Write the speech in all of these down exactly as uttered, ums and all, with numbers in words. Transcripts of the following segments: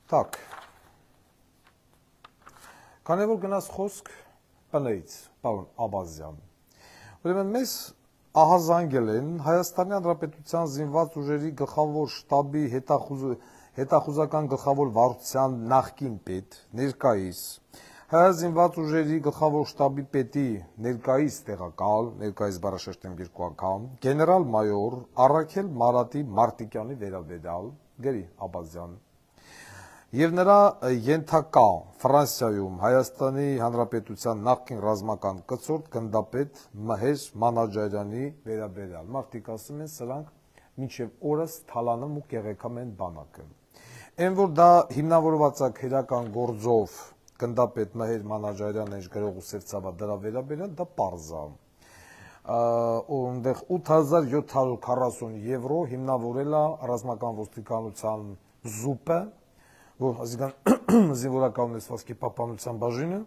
Так. Քանի որ գնաց խոսք բնից, պարոն Աբազյան։ Ուրեմն մեզ ահազանգել են Հայաստանի Հանրապետության զինված ուժերի գլխավոր շտաբի հետախուզական գլխավոր վարչության նախկին պետ, ներկայիս, Հայ զինված ուժերի գլխավոր շտաբի պետի ներկայիս տեղակալ, ներկայիս բառաշրջեմ երկու անգամ, գեներալ-մայոր Առաքել Մարատի Մարտիկյանի վերաբերյալ, Գերի Աբազյան, եւ նրա ենթակա Ֆրանսիայում Հայաստանի Հանրապետության նախկին ռազմական կցորդ գնդապետ Մհեր Մանաջարյանի վերաբերյալ։ Մարդիկ ասում են սրանք մինչև օրս թալանում ու կեղեքամ են բանակը։ Այն որ դա հիմնավորված է քրեական գործով գնդապետ Մհեր Մանաջարյանը ինչ գրող ու սերծավա դրա վերաբերյալ դա պարզ է։ Այնտեղ ութ հազար յոթ հարյուր քառասուն եվրո հիմնավորել է ռազմական ոստիկանության զուպը, որ ազգան զինվորական ունեցվածքի պահպանության բաժինը,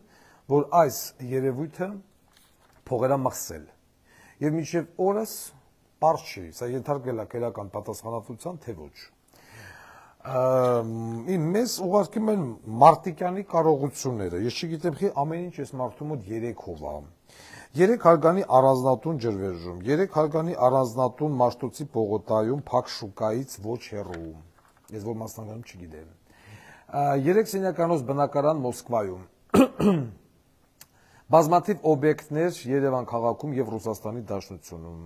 որ այս երևույթը փողերա մխսել։ Եվ մինչև օրս պարզ չի, սա ենթարկվել է քրեական պատասխանատվության, թե ոչ։ Մեզ ուղարկում են Մարտիկյանի կարողությունները, ես չգիտեմ խի ամեն ինչ ես մարդու մոտ երեք հով է։ Երեք հարգանի առանձնատուն ջրվեժում, երեք հարգանի առանձնատուն Մաշտոցի պողոտայում, Փակ շուկայից ոչ հեռու, ես որ մասնագանում չգիտեմ։ Երեք սենյականոց բնակարան Մոսկվայում, բազմաթիվ օբյեկտներ Երևան քաղաքում եւ Ռուսաստանի Դաշնությունում։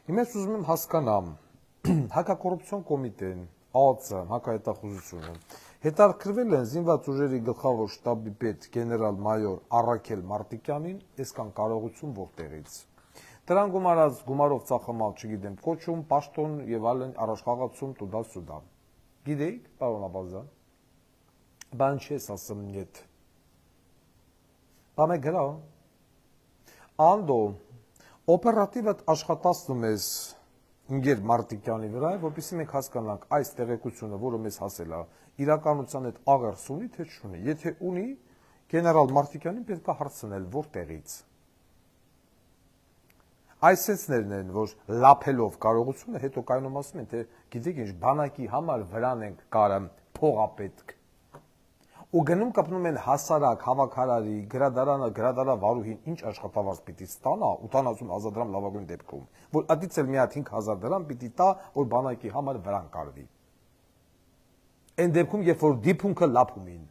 Հիմա ես ուզում եմ հասկանամ, հակակոռուպցիոն կոմիտեն, ԱԱՑ, հակահետախուզությունը հետաքրքրվել են զինված ուժերի գլխավոր շտաբի պետ գեներալ-մայոր Առաքել Մարտիկյանին, այսքան կարողություն որտեղից։ Դրան գումարած գումարով ծախամալ, չգիտեմ, կոչում, պաշտոն եւ այլն առաջխաղացում տուդալ-սուդալ։ Գիտեիք, պարոն Աբազյան։ Բան չես ասում նյետ։ Բամե գրա։ Անդո օպերատիվ աշխատացնում ես Ինգեր Մարտիկյանի վրա, որպեսզի մենք հասկանանք այս տեղեկությունը, որը մեզ հասել է, իրականության հետ աղերս ունի, թե չունի։ Եթե ունի, գեներալ Մարտիկյանին պետք է հարցնել որտեղից։ Այս սենսներն են, որ լափելով կարողությունը, հետո կայանում ասում են, թե գիտեք ինչ, բանակի համար վրան ենք կարը փողապետք։ Ու գնում կպնում են հասարակ, հավաքարարի, գրադարանը, գրադարավարուհին ինչ աշխատավարձ պիտի ստանա, ութանասուն հազար դրամ լավագույն դեպքում, որ ատից էլ մի հատ հինգ հազար դրամ պիտի տա, որ բանակի համար վրան կարվի։ Այն դեպքում, երբ որ դիփունքը լափում են։